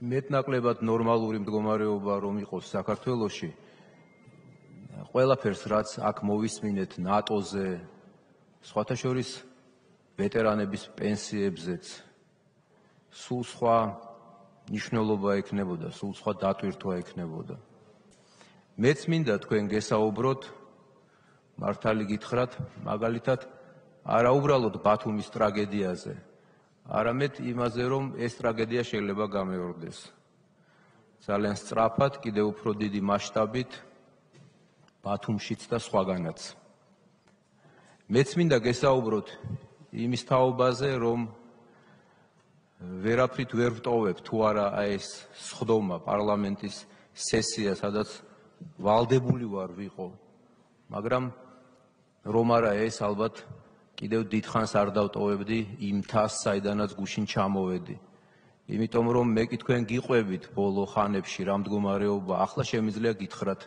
მეტნაკლებად ნორმალური მდგომარეობა რომ იყოს საქართველოში, ყველაფერს რაც აქ მოვისმინეთ ნატოზე, სხვათა შორის ვეტერანების პენსიებზეც, სულ სხვა ნიშნულობა ექნებოდა, სულ სხვა დატვირთვა ექნებოდა. მეც მინდა თქვენ გესაუბროთ, მართალი გითხრათ, მაგალითად, არა უბრალოდ ბათუმის ტრაგედიაზე, არამედ იმაზე, რომ ეს ტრაგედია შეიძლება გამეორდეს. ძალიან სწრაფად, კიდევ უფრო დიდი მასშტაბით, ბათუმშიც და სხვაგანაც. მეც მინდა გესაუბროთ იმის თაობაზე, რომ ვერაფრით ვერ ვტოვებ თუ არა ეს სხდომა პარლამენტის სესია, სადაც ვალდებული ვარ ვიყო, მაგრამ რომ არა ეს ალბათ კიდევ დიდხანს არ დავტოვებდი იმ თასს, საიდანაც გუშინ ჩამოვედი. იმიტომ რომ მე კი თქვენ გიყვებით ბოლო ხანებში რა მდგომარეობა, ახლა შემიძლია გითხრათ,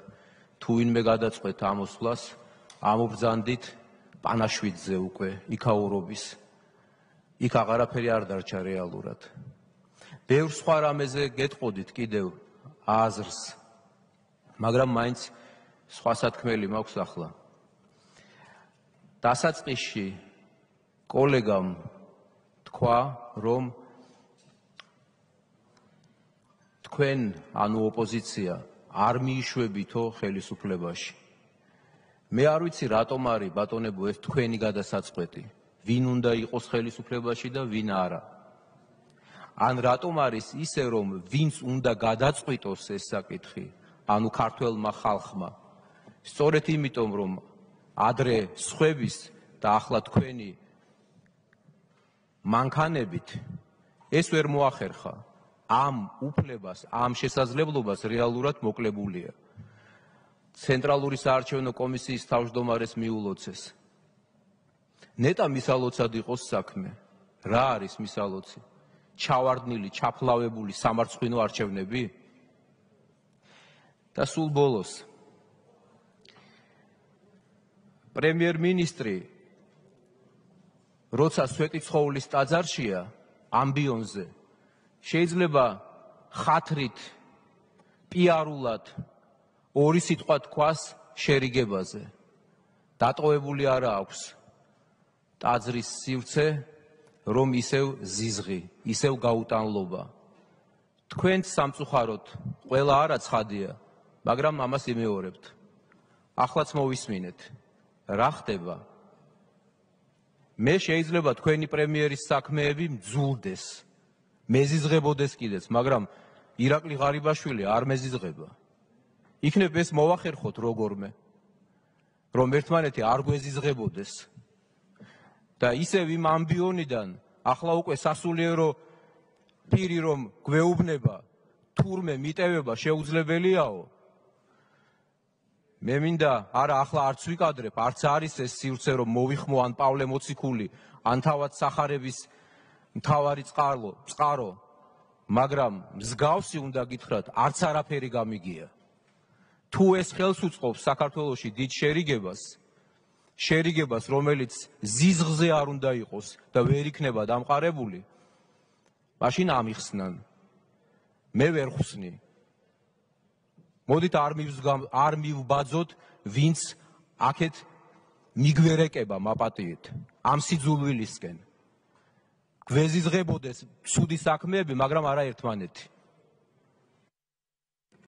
თუ ვინმე გადაწყვეტ ამოსვლას, ამობრძანდით პანაშვიდზე უკვე იქაურობის. იქ აღარაფერი არ დარჩა რეალურად. ბევრ სხვა რამეზე გეტყოდით კიდევ აზრს, მაგრამ მაინც სხვა სათქმელი მაქვს ახლა. დასაწყისში კოლეგამ თქვა, რომ თქვენ, ანუ ოპოზიცია, არ მიიშვებითო ხელისუფლებაში. მე არ ვიცი რატომ არის ბატონებო ეს თქვენი გადასაწყვეტი, ვინ უნდა იყოს ხელისუფლებაში და ვინ არა. ან რატომ არის ისე, რომ ვინც უნდა გადაწყვიტოს ეს საკითხი, ანუ ქართველმა ხალხმა, სწორედ იმიტომ, რომ ადრე სხვების და ახლა თქვენი მანქანებით ეს ვერ მოახერხა. ამ უფლებას, ამ შესაძლებლობას რეალურად მოკლებულია. ცენტრალური საარჩევნო კომისიის თავმჯდომარეს მიულოცეს. ნეტა მისალოცად იყოს საქმე. რა არის მისალოცი? ჩავარდნილი, ჩაფლავებული სამარცხვინო არჩევნები? და სულ ბოლოს პრემიერ-მინისტრი, როცა სვეტიცხოვლის ტაძარშია ამბიონზე, შეიძლება ხათრით, პიარულად ორი სიტყვა თქვას შერიგებაზე. დატოვებული არა აქვს ტაძრის სივრცე, რომ ისევ ზიზღი, ისევ გაუტანლობა. თქვენც სამწუხაროდ ყველა არა ცხადია, მაგრამ ამას იმეორებთ. ახლაც მოვისმინეთ. რა ხდება? მე შეიძლება თქვენი პრემიერის საქმეები მძულდეს, მეზიზღებოდეს კიდეც, მაგრამ ირაკლი ღარიბაშვილი არ მეზიზღება. იქნებ ეს მოვახერხოთ როგორმე, რომ ერთმანეთი არ გვეზიზღებოდეს. და ისევ იმ ამბიონიდან ახლა უკვე სასულიერო პირი რომ გვეუბნება, თურმე მიტევება შეუძლებელიაო. მე მინდა არა ახლა არც ვიკადრებ, არც არის ეს სივრცე რომ მოვიხმო ან პავლე მოციქული, ან თავად სახარების მთავარი წყარო, მაგრამ მსგავსი უნდა გითხრათ, არც არაფერი გამიგია. თუ ეს ხელს უწყობს საქართველოში დიდ შერიგებას, რომელიც ზიზღზე არ უნდა იყოს და ვერ იქნება დამყარებული, მაშინ ამიხსნან. მე ვერ ხსნი. მოდით არ მივბაძოთ, ვინც აქეთ მიგვერეკება მაპატიეთ ამ სიძულვილისკენ. გვეზიზღებოდეს ცუდი საქმეები, მაგრამ არა ერთმანეთი.